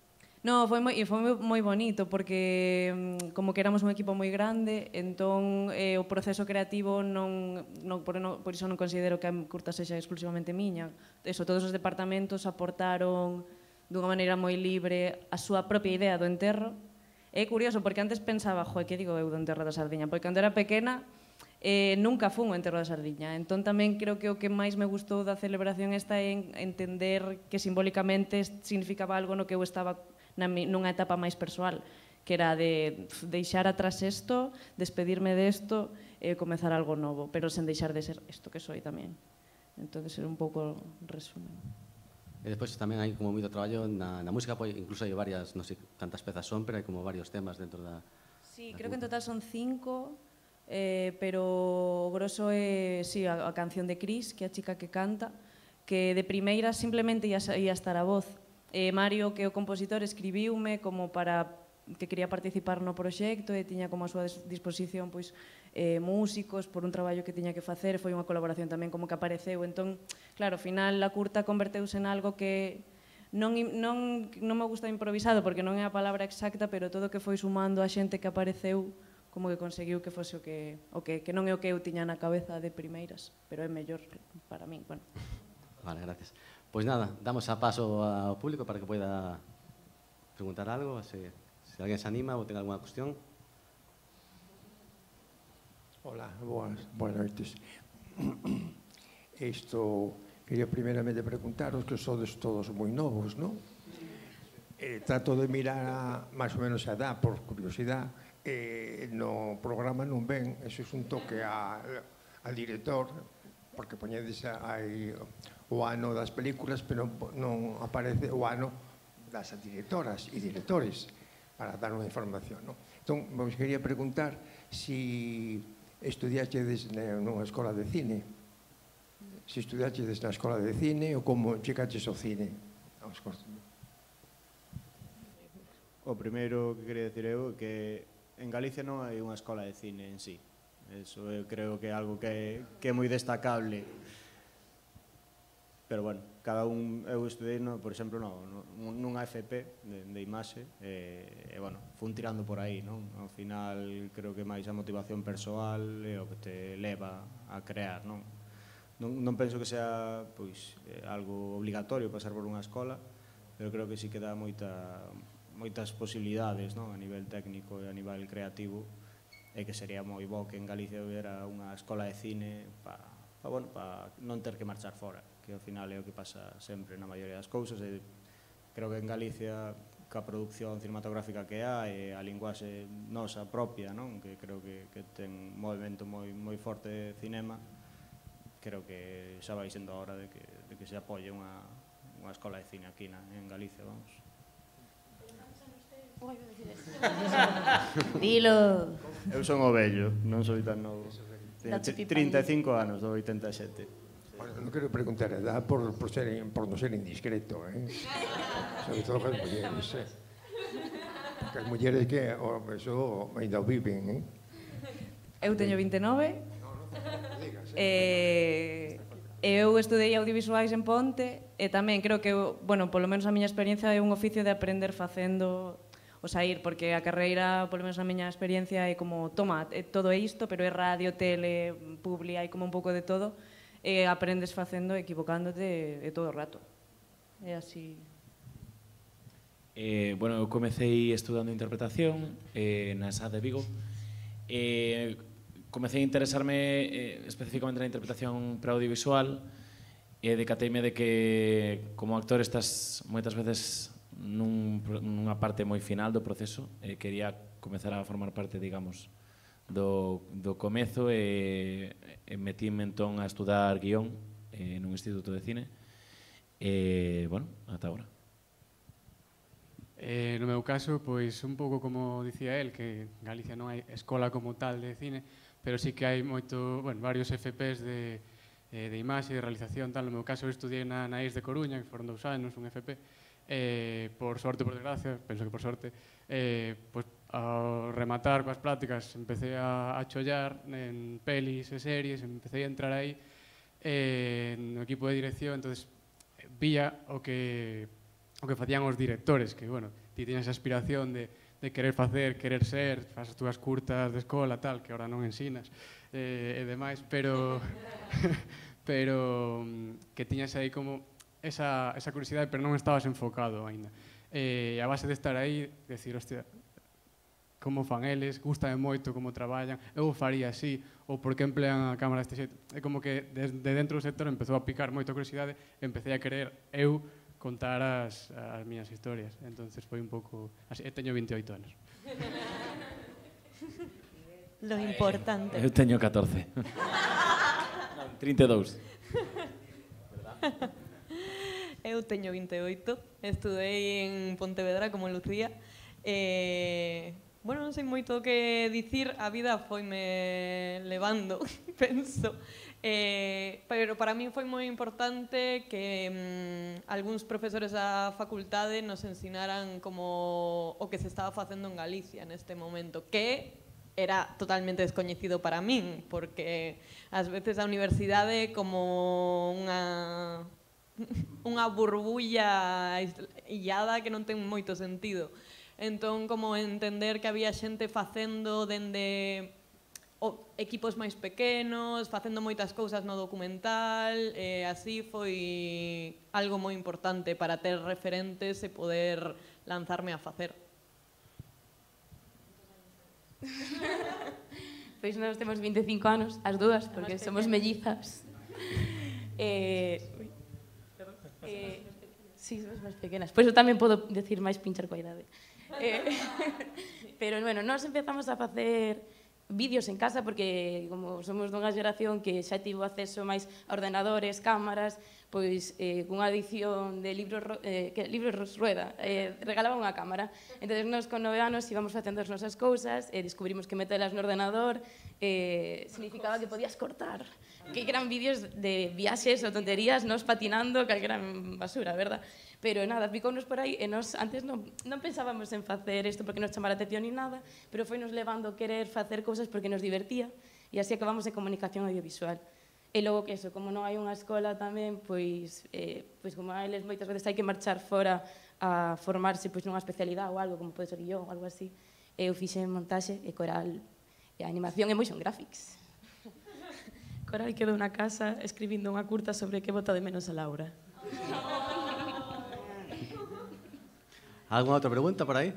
No, foi moi, foi moi, moi bonito, porque como que éramos un equipo moi grande, entón eh, o proceso creativo non, non, por, non, por iso non considero que a curta sexa exclusivamente miña. Eso, todos os departamentos aportaron dunha maneira moi libre a súa propia idea do enterro. É curioso, porque antes pensaba, joe, que digo eu do enterro da sardiña? Porque cando era pequena eh, nunca fun o enterro da sardiña. Entón tamén creo que o que máis me gustou da celebración esta é en entender que simbólicamente significaba algo no que eu estaba na, nunha etapa máis persoal, que era de deixar atrás isto, despedirme desto e comezar algo novo, pero sen deixar de ser isto que soy tamén. Entón, é un pouco resumen. E despois tamén hai como moito traballo na, na música, pois incluso hai varias, non sei cantas pezas son, pero hai como varios temas dentro da... Sí, da creo que en total son cinco, eh, pero o grosso é, sí, a, a canción de Cris, que é a chica que canta, que de primeira simplemente ia, ia estar a voz. Eh, Mario, que é o compositor, escribiume como para que quería participar no proxecto e tiña como a súa disposición pois, eh, músicos por un traballo que tiña que facer, foi unha colaboración tamén como que apareceu. Entón, claro, ao final a curta converteuse en algo que non, non, non me gusta improvisado porque non é a palabra exacta, pero todo o que foi sumando a xente que apareceu como que conseguiu que fose o que, o que, que non é o que eu tiña na cabeza de primeiras, pero é mellor para min. Bueno. Vale, gracias. Pois nada, damos a paso ao público para que poida preguntar algo, se, se alguén se anima ou ten alguna cuestión. Hola, boas, boas noites. Isto, quería primeramente preguntaros que sodes todos moi novos, non? Eh, trato de mirar a, máis ou menos a edad, por curiosidade, eh, no programa non ven, eso é un toque a, al director, porque poñedes aí o ano das películas, pero non aparece o ano das directoras e directores. para dar unha información, non? Entón, vos quería preguntar si estudiachedes nunha escola de cine, se estudiachedes na escola de cine ou como chegaches ao cine. O primeiro que quería dicir eu é que en Galicia non hai unha escola de cine en sí. Eso eu creo que é algo que, que é moi destacable. Pero, bueno, cada un, eu estudei, no, por exemplo, no, no, nunha F P de, de imaxe, e, e, bueno, fun tirando por aí, non? Ao final, creo que máis a motivación persoal é o que te leva a crear, non? Non, non penso que sea, pois, eh, algo obligatorio pasar por unha escola, pero creo que sí que dá moita, moitas posibilidades, non? A nivel técnico e a nivel creativo, e que sería moi bo que en Galicia hubiera unha escola de cine para pa, bueno, pa non ter que marchar fora, que ao final é o que pasa sempre na maioría das cousas, e creo que en Galicia ca produción cinematográfica que hai e a linguaxe nosa propia, non? Que creo que, que ten un movimento moi, moi forte de cinema, creo que xa vai sendo a hora de que, de que se apoie unha, unha escola de cine aquí na, en Galicia, vamos. Dilo. Eu son o vello, non soy tan novo. trinta e cinco anos, do oitenta e sete. Bueno, non quero preguntar a edad por, por, ser, por non ser indiscreto, eh? Sobre todo as mulleres, eh? Porque as mulleres que oh, eso ainda o viven, eh? Eu teño vinte e nove. Eh, eu estudei audiovisuais en Ponte e tamén creo que, bueno, polo menos a miña experiencia é un oficio de aprender facendo o sair, porque a carreira, polo menos a miña experiencia, é como, toma, é todo isto, pero é radio, tele, publi, hai como un pouco de todo, e aprendes facendo, equivocándote de todo o rato. É así. Eh, bueno, eu comecei estudando interpretación eh, na S A de Vigo. Eh, comecei a interesarme eh, especificamente na interpretación para audiovisual e decateime de que como actor estás moitas veces nun, nunha parte moi final do proceso e quería comezar a formar parte, digamos, do, do comezo e, e metíme entón a estudar guión eh, nun instituto de cine e, bueno, ata agora. Eh, no meu caso, pois un pouco como dicía el, que en Galicia non hai escola como tal de cine, pero sí que hai moito, bueno, varios F Ps de, eh, de imaxe, de realización, tal. No meu caso, eu estudiei na, na I E S de Coruña, que foron dous anos, un F P. Eh, por sorte, por desgracia, penso que por sorte, eh, pois, ao rematar coas prácticas empecé a, a chollar en pelis e series, empecé a entrar aí eh, no equipo de dirección, entonces vía o que o que facían os directores, que, bueno, ti tienes esa aspiración de, de querer facer, querer ser, faz as túas curtas de escola, tal, que ahora non ensinas, eh, e demais, pero pero que tiñas aí como esa, esa curiosidade, pero non estabas enfocado aínda. E a base de estar aí, decir, hostia, como fan eles, gustame moito como traballan, eu faría así, ou por que emplean a cámara deste xeito. É como que desde dentro do sector empezou a picar moita curiosidade, empecé a querer eu contar as, as miñas historias. Entonces foi un pouco así. Eu teño veintioito anos. Lo importante. Eu teño catorce. Non, trinta e dous. Eu teño vinte e oito, estudei en Pontevedra como Lucía. Eh, bueno, non sei moito o que dicir, a vida foime levando, penso. Eh, pero para mí foi moi importante que mm, algúns profesores da facultade nos ensinaran como o que se estaba facendo en Galicia neste momento, que era totalmente descoñecido para min, porque ás veces a universidade é como unha unha burbulla illada que non ten moito sentido. Entón, como entender que había xente facendo dende o, equipos máis pequenos, facendo moitas cousas no documental, e así foi algo moi importante para ter referentes e poder lanzarme a facer. Pois nós temos vinte e cinco anos, as dúas, porque somos mellizas. Eh, eh, sí, somos máis pequenas. Pois eu tamén podo decir máis pinchar coa idade. Eh, pero, bueno, nós empezamos a facer vídeos en casa porque, como somos dunha xeración que xa tivo acceso máis a ordenadores, cámaras, pois eh, cunha edición de libros, eh, que, libros Rueda, eh, regalaba unha cámara. Entón, nos con nove anos íbamos facendo as nosas cousas, e eh, descubrimos que metelas no ordenador eh, significaba que podías cortar, que eran vídeos de viaxes ou tonterías, nos patinando, calquera basura, verdad? Pero nada, picounos por aí, e nos antes non, non pensábamos en facer isto porque nos chamara a atención ni nada, pero foi nos levando a querer facer cousas porque nos divertía, e así acabamos en comunicación audiovisual. E logo que eso, como non hai unha escola tamén, pois, eh, pois como a eles moitas veces hai que marchar fora a formarse pois, nunha especialidade ou algo, como pode ser guión ou algo así. Eu fixen montaxe e coral e animación e motion graphics. Coral quedou na casa escribindo unha curta sobre que bota de menos a Laura. Alguna outra pregunta por aí?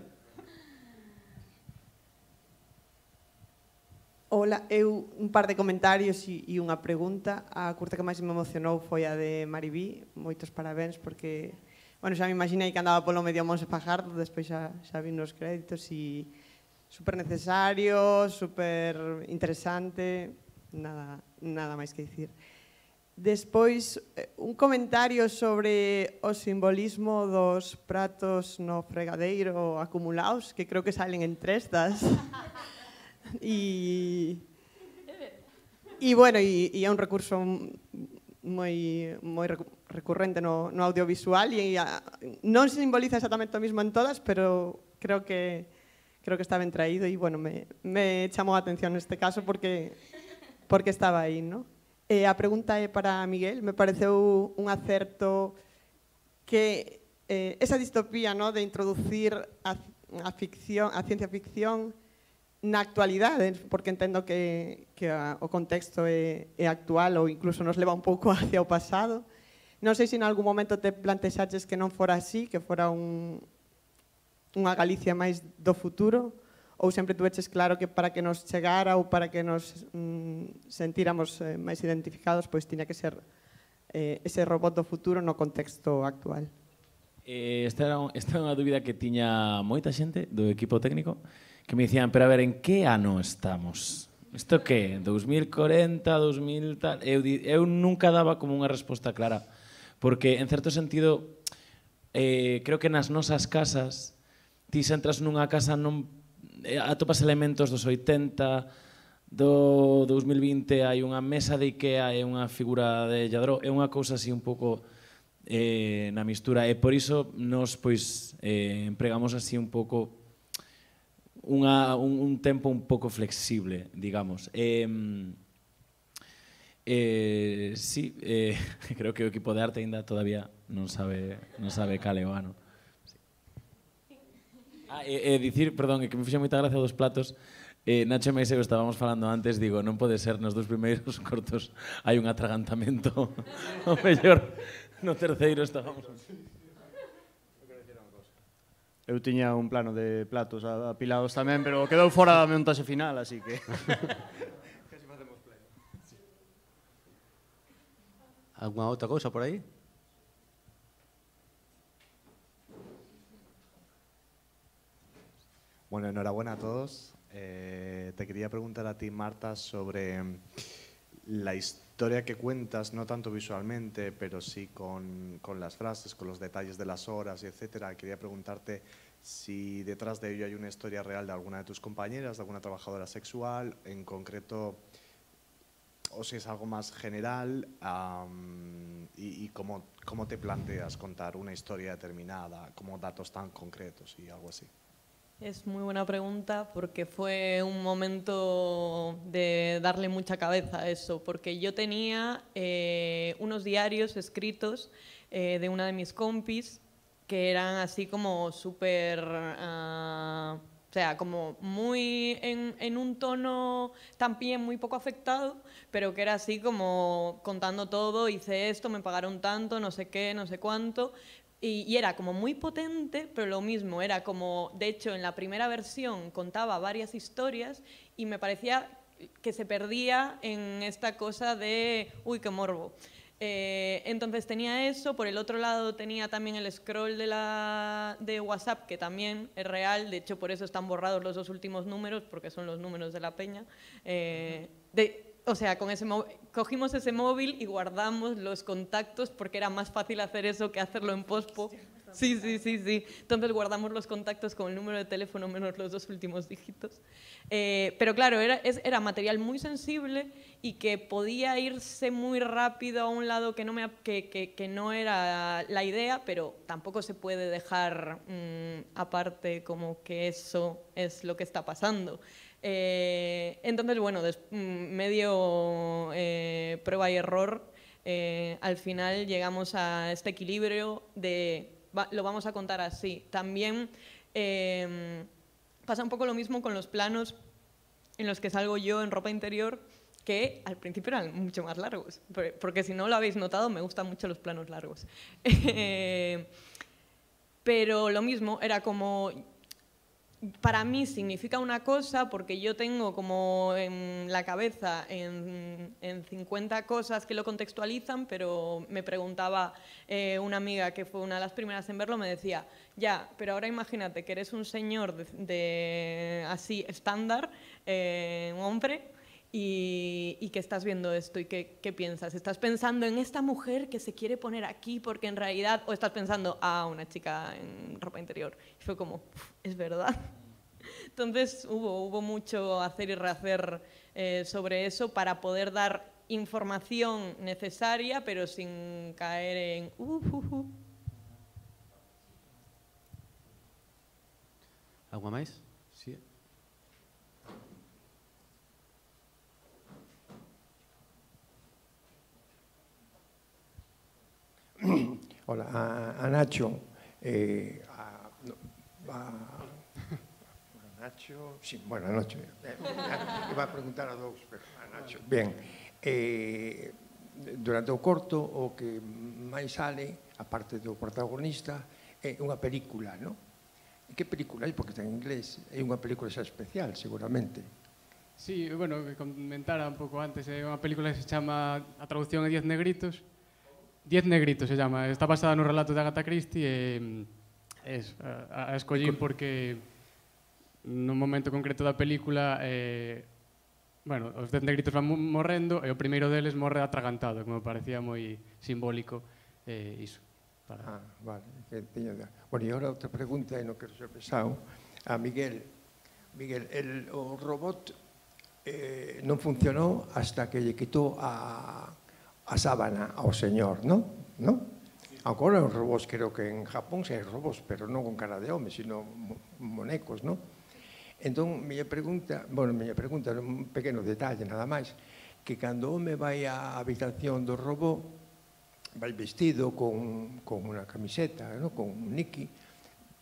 Ola, eu un par de comentarios e, e unha pregunta. A curta que máis me emocionou foi a de Maribí. Moitos parabéns porque, bueno, xa me imaginei que andaba polo medio Monse Fajardo, despois xa, xa vi nos créditos e super necesario, super interesante, nada, nada máis que dicir. Despois, un comentario sobre o simbolismo dos pratos no fregadeiro acumulados, que creo que salen en tres das... E, e bueno, e, e é un recurso moi, moi recurrente no, no audiovisual e a, non simboliza exactamente o mismo en todas, pero creo que creo que está ben traído e bueno, me, me chamou a atención neste caso porque porque estaba aí, ¿no? E a pregunta é para Miguel, me pareceu un acerto que eh, esa distopía, ¿no?, de introducir a, a ficción, a ciencia ficción na actualidade, porque entendo que, que a, o contexto é, é actual ou incluso nos leva un pouco hacia o pasado. Non sei se en algún momento te plantexaches que non fora así, que fora un, unha Galicia máis do futuro, ou sempre tuveches claro que para que nos chegara ou para que nos mm, sentíramos eh, máis identificados, pois tiña que ser eh, ese robot do futuro no contexto actual. Eh, esta, era, esta era unha dúbida que tiña moita xente do equipo técnico, que me dicían, pero a ver, en que ano estamos? Isto que? dous mil corenta, dous mil tal... Eu, eu nunca daba como unha resposta clara, porque, en certo sentido, eh, creo que nas nosas casas, ti se entras nunha casa, non atopas elementos dos oitenta, do dous mil vinte, hai unha mesa de Ikea e unha figura de Lladró, é unha cousa así un pouco eh, na mistura, e por iso nos, pois, eh, empregamos así un pouco Unha, un, un tempo un pouco flexible, digamos. Eh, eh, sí, eh, creo que o equipo de arte ainda todavía non sabe, non sabe cal é o ano. Sí. Ah, e, e dicir, perdón, que me fixe moita gracia dos platos. Eh, Nacho e Maiseu estábamos falando antes, digo, non pode ser, nos dos primeiros cortos hai un atragantamento. O mellor, no terceiro estábamos... Eu tiña un plano de platos apilados tamén, pero quedou fora da montaxe final, así que... Alguna outra cousa por aí? Bueno, enhorabuena a todos. Eh, te quería preguntar a ti, Marta, sobre la historia que cuentas, no tanto visualmente, pero sí con, con las frases, con los detalles de las horas, etcétera. Quería preguntarte si detrás de ello hay una historia real de alguna de tus compañeras, de alguna trabajadora sexual, en concreto, o si es algo más general, um, y, y cómo, cómo te planteas contar una historia determinada, como datos tan concretos y algo así. Es muy buena pregunta porque fue un momento de darle mucha cabeza a eso, porque yo tenía eh, unos diarios escritos eh, de una de mis compis que eran así como súper, uh, o sea, como muy en, en un tono también muy poco afectado, pero que era así como contando todo, hice esto, me pagaron tanto, no sé qué, no sé cuánto. Y, y era como muy potente, pero lo mismo, era como, de hecho, en la primera versión contaba varias historias y me parecía que se perdía en esta cosa de, uy, qué morbo. Eh, entonces tenía eso, por el otro lado tenía también el scroll de, la, de WhatsApp, que también es real, de hecho por eso están borrados los dos últimos números, porque son los números de la peña. Eh, de, o sea, con ese cogimos ese móvil y guardamos los contactos porque era más fácil hacer eso que hacerlo en pospo. Sí, sí, sí, sí. Entonces guardamos los contactos con el número de teléfono menos los dos últimos dígitos. Eh, pero claro, era, es, era material muy sensible y que podía irse muy rápido a un lado que no, me, que, que, que no era la idea, pero tampoco se puede dejar mmm, aparte como que eso es lo que está pasando. Eh, entonces, bueno, des, medio eh, prueba y error, eh, al final llegamos a este equilibrio de... Va, lo vamos a contar así. También eh, pasa un poco lo mismo con los planos en los que salgo yo en ropa interior, que al principio eran mucho más largos, porque, porque si no lo habéis notado, me gustan mucho los planos largos. eh, pero lo mismo, era como... Para mí significa una cosa porque yo tengo como en la cabeza en, en cincuenta cosas que lo contextualizan, pero me preguntaba eh, una amiga que fue una de las primeras en verlo, me decía, ya, pero ahora imagínate que eres un señor de, de así estándar, eh, un hombre, y, y que estás viendo esto y que, ¿qué piensas? ¿Estás pensando en esta mujer que se quiere poner aquí porque en realidad, o estás pensando, ah, una chica en ropa interior? Y fue como, es verdad. Entonces hubo, hubo mucho hacer y rehacer eh, sobre eso para poder dar información necesaria, pero sin caer en... Uh, uh, uh. ¿Algo más? Sí. Hola, a, a Nacho, eh, a, a, a Nacho, sí, bueno, a Nacho, eh, iba a preguntar a dous, pero a Nacho. Ben, eh, durante o corto, o que máis sale, a parte do protagonista, é unha película, non? Que película é? Porque está en inglés, é unha película xa especial, seguramente. Sí, bueno, que comentara un pouco antes, é unha película que se chama, a traducción é Diez negritos, Diez negritos se llama, está basada no relato de Agatha Christie e es, a, a escollín porque nun momento concreto da película eh, bueno, os dez negritos van morrendo e o primeiro deles morre atragantado, como parecía moi simbólico eh, iso. Para... Ah, vale, que teño... Bueno, e agora outra pregunta, e non quero ser pesado, a Miguel. Miguel, el, o robot eh, non funcionou hasta que lle quitou a... a sábana ao señor, non? Non? Agora os robos, creo que en Japón se hai robos, pero non con cara de home, sino monecos, non? Entón, miña pregunta, bueno, miña pregunta, un pequeno detalle, nada máis, que cando o home vai á habitación do robot, vai vestido con, con unha camiseta, non? Con un niqui,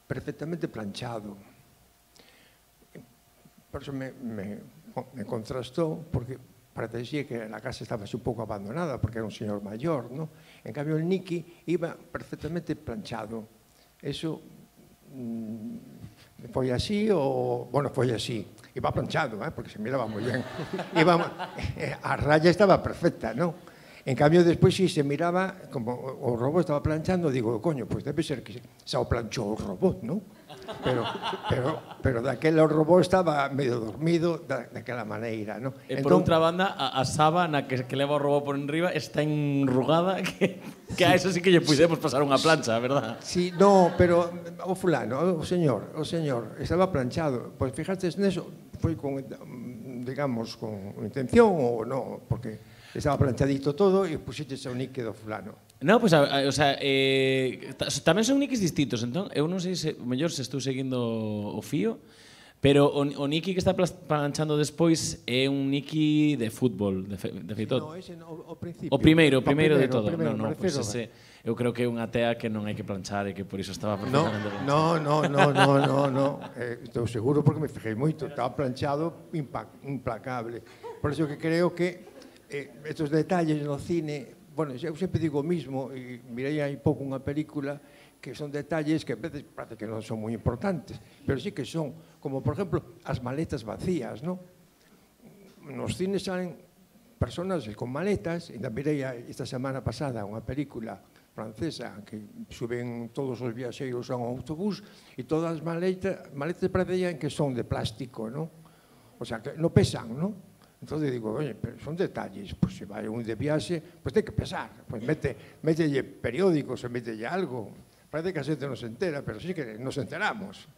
perfectamente planchado. Por eso me, me, me contrastou, porque parecía que la casa estaba un pouco abandonada porque era un señor maior, ¿no? En cambio, el Nicky iba perfectamente planchado. Eso mmm, foi así o... Bueno, foi así. Iba planchado, ¿eh? Porque se miraba moi ben. Iba, a raya estaba perfecta, ¿no? En cambio, despois, si se miraba, como o robot estaba planchando, digo, coño, pois pues debe ser que se o planchou o robot, ¿no? Pero, pero, pero daquela o robot estaba medio dormido da, daquela maneira, ¿no? E por entón, outra banda, a, a sábana que, que leva o robot por enriba está enrugada que, que a eso sí que lle puidemos pasar unha plancha, verdad? Sí, no, pero o fulano, o señor, o señor, estaba planchado. Pois pues, fijaste neso, foi con, digamos, con intención ou non, porque estaba planchadito todo e puxeches o nique do fulano. No, pois, pues, o sea, eh, tamén son niquis distintos, entón, eu non sei se, mellor se estou seguindo o fío, pero o, o niqui que está planchando despois é un niqui de fútbol, de, fe, de feito. No, ese no, o principio. O primeiro, o primeiro, o primeiro de todo. Primeiro, no, no, pois pues ese, eu creo que é unha tea que non hai que planchar e que por iso estaba perfectamente planchado. No, no, no, no, no, no, eh, estou seguro porque me fijei moito, estaba planchado implacable. Por iso que creo que eh, estos detalles no cine, bueno, eu sempre digo o mismo, e mirei hai pouco unha película que son detalles que a veces parece que non son moi importantes, pero sí que son, como por exemplo, as maletas vacías, non? Nos cines salen personas con maletas, e mirei esta semana pasada unha película francesa que suben todos os viaxeiros a un autobús e todas as maletas, maletas parecían que son de plástico, non? O sea, que non pesan, non? Entonces digo, oye, pero son detalles, pues si va un de viaxe, pues ten que pesar, pues mete, mételle periódicos, mételle algo. Parece que a xente non se entera, pero sí que nos enteramos.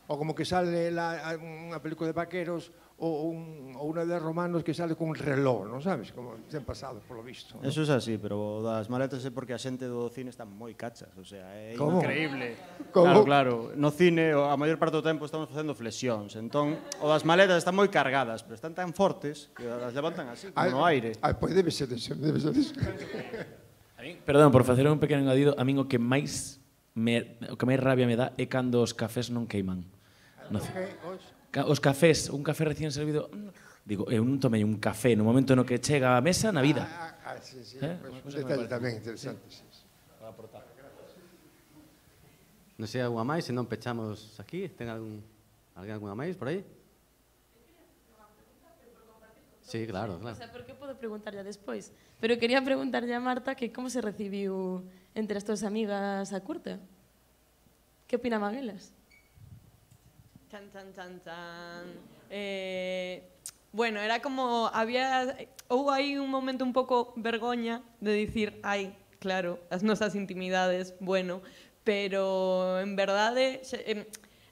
O como que sale la, unha película de vaqueros ou, un, ou unha de romanos que sale con un reloj, non sabes? Como ten pasado, polo visto. ¿no? Eso é así, pero das maletas é porque a xente do cine está moi cachas, o sea, é ¿Cómo? increíble. ¿Cómo? Claro, claro, no cine a maior parte do tempo estamos facendo flexións, entón o das maletas están moi cargadas, pero están tan fortes que as levantan así, como no aire. Ah, pois debe ser eso, debe ser eso. A min, perdón, por facer un pequeno engadido, a min o que máis me, o que máis rabia me dá é cando os cafés non queiman. No, ca- os cafés, un café recién servido, digo, eu non tomei un café no momento no que chega á mesa na vida. Ah, ah, sí, sí, Eh? pues, un detalle tamén interesante. Sí. Sí. Non sei algunha máis, se non pechamos aquí. Ten algún, alguén algunha máis por aí? Sí, claro, O claro. sea, por que podo preguntar ya despois? Pero quería preguntarlle a Marta que como se recibiu entre as túas amigas a curta. Que opinaban elas? Chan, chan, chan, chan. Eh, bueno, era como, había, houve aí un momento un pouco vergoña de dicir, ai, claro, as nosas intimidades, bueno, pero en verdade xe- em,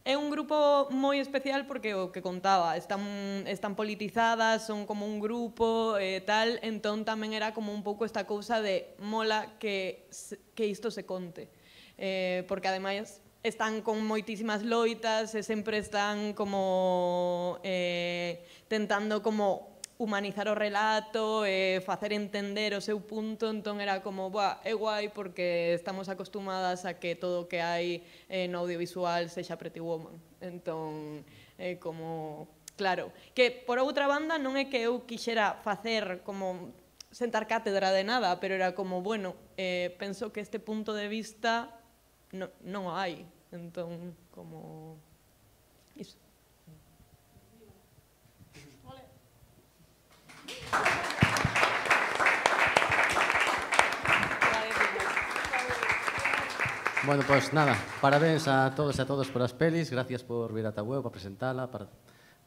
é un grupo moi especial porque o que contaba, están, están politizadas, son como un grupo e eh, tal, entón tamén era como un pouco esta cousa de mola que, se- que isto se conte. Eh, porque ademais están con moitísimas loitas e sempre están como eh, tentando como humanizar o relato e facer entender o seu punto, entón era como, buah, é guai porque estamos acostumadas a que todo o que hai eh, no audiovisual sexa Pretty Woman. Entón, é como, claro, que por outra banda non é que eu quixera facer como sentar cátedra de nada, pero era como, bueno, eh, penso que este punto de vista no, non o hai, entón, como... Iso. Bueno, pues nada, parabéns a todos e a todos por as pelis, gracias por vir ata web, para presentala, para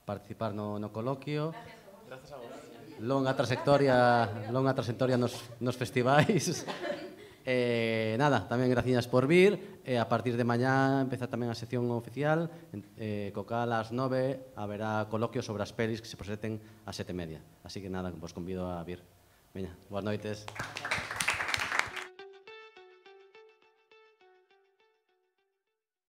participar no, no coloquio. Gracias a vos. Longa trayectoria, longa trayectoria nos, nos festivais. Eh, nada, tamén gracias por vir. Eh, a partir de mañá empeza tamén a sección oficial, eh, co cal ás nove haberá coloquio sobre as pelis que se presenten ás sete e media. Así que nada, vos convido a vir. Veña, boas noites.